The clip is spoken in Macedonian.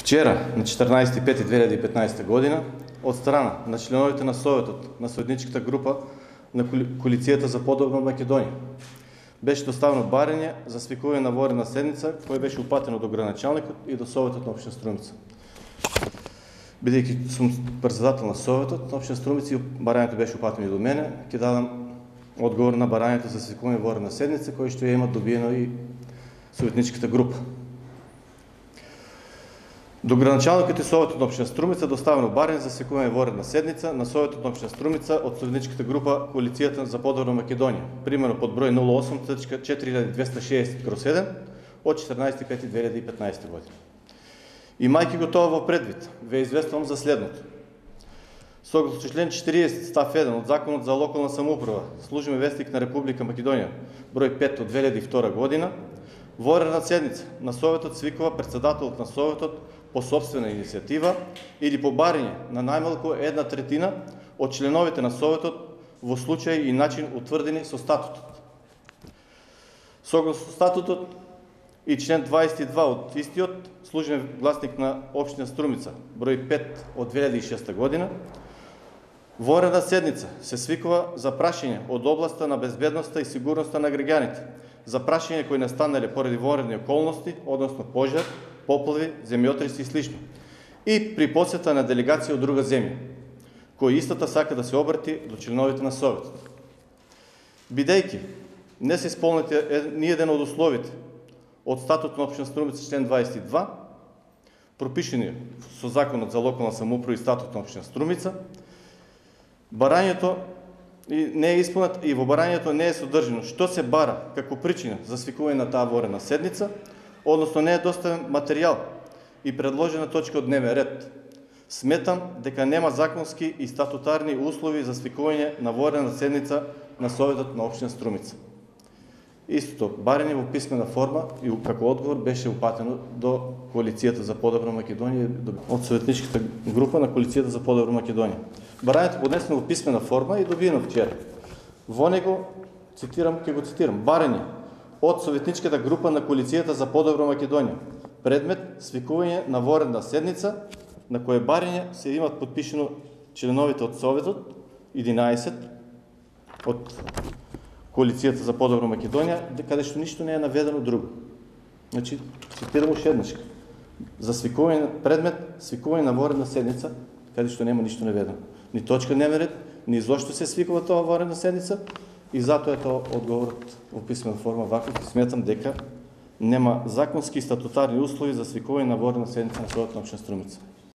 Вчера, на 14.5.2015 година, од страна на членовите на Советот на советничката група на Коалицијата за подобрна Македонија, беше доставено барање за свикување на воредна седница, кој беше упатено до градоначалникот и до Советот на општина Струмица. Бидејќи сум председател на Советот на општина Струмица и барањето беше упатено и до мене, ќе дадам одговор на барањето за свикување воредна седница, кој што ја има добиено и советничката група. До градоначалникот и Советот на општина Струмица доставено барање за свикување воредна седница на Советот на општина Струмица од советничката група Коалицијата за подобрна Македонија, примерно под број 08.4260/1 од 14.5.2015 година. Имајќи го тоа во предвид, ве известувам за следното. Согласно член 40 став 1 од Законот за локална самоуправа, Службен вестник на Република Македонија, број 5 од 2002 година, воредна седница на Советот свикува председателот на Советот по собствена иницијатива или по барање на најмалку 1/3 од членовите на Советот во случај и начин утврдени со статутот. Согласно статутот и член 22 од истиот, Службен гласник на општина Струмица, број 5 од 2006 година, воредна седница се свикува за прашање од областа на безбедноста и сигурноста на граѓаните, за прашање кои настанале поради воредни околности, односно пожар, поплави, земјотреси и слично, и при посета на делегација од друга земја, кој истата сака да се обрати до членовите на Советот. Бидејќи не се исполнети ниеден од условите од статутот на општина Струмица член 22, пропишени со Законот за локална самоуправа и статутот на општина Струмица, барањето не е исполнет и во барањето не е содржано што се бара како причина за свикување на таа воредна седница, односно не е доставен материјал и предложена точка од дневен ред. Сметам дека нема законски и статутарни услови за свикување на воредна седница на Советот на општина Струмица. Истото барање во писмена форма и како одговор беше упатено до Коалицијата за подобрна Македонија од советничката група на Коалицијата за подобрна Македонија. Барањето поднесено во писмена форма и добиено вчера. Во него, ќе го цитирам, барање од советничката група на Коалицијата за подобрна Македонија. Предмет свикување на воредна седница, на кое барање се имат подпишено членовите од Советот, 11 од Коалицијата за подобрна Македонија, каде што ништо не е наведено друго. Значи, цитирам уште еднаш. За свикување, предмет свикување на воредна седница, каде што нема ништо наведено. Ни точка дневен ред, ни зошто се свикува тоа воредна седница, и затоа е тоа одговорот во писмена форма ваков, и сметам дека нема законски и статутарни услови за свикување на воредна седница на Советот на општина Струмица.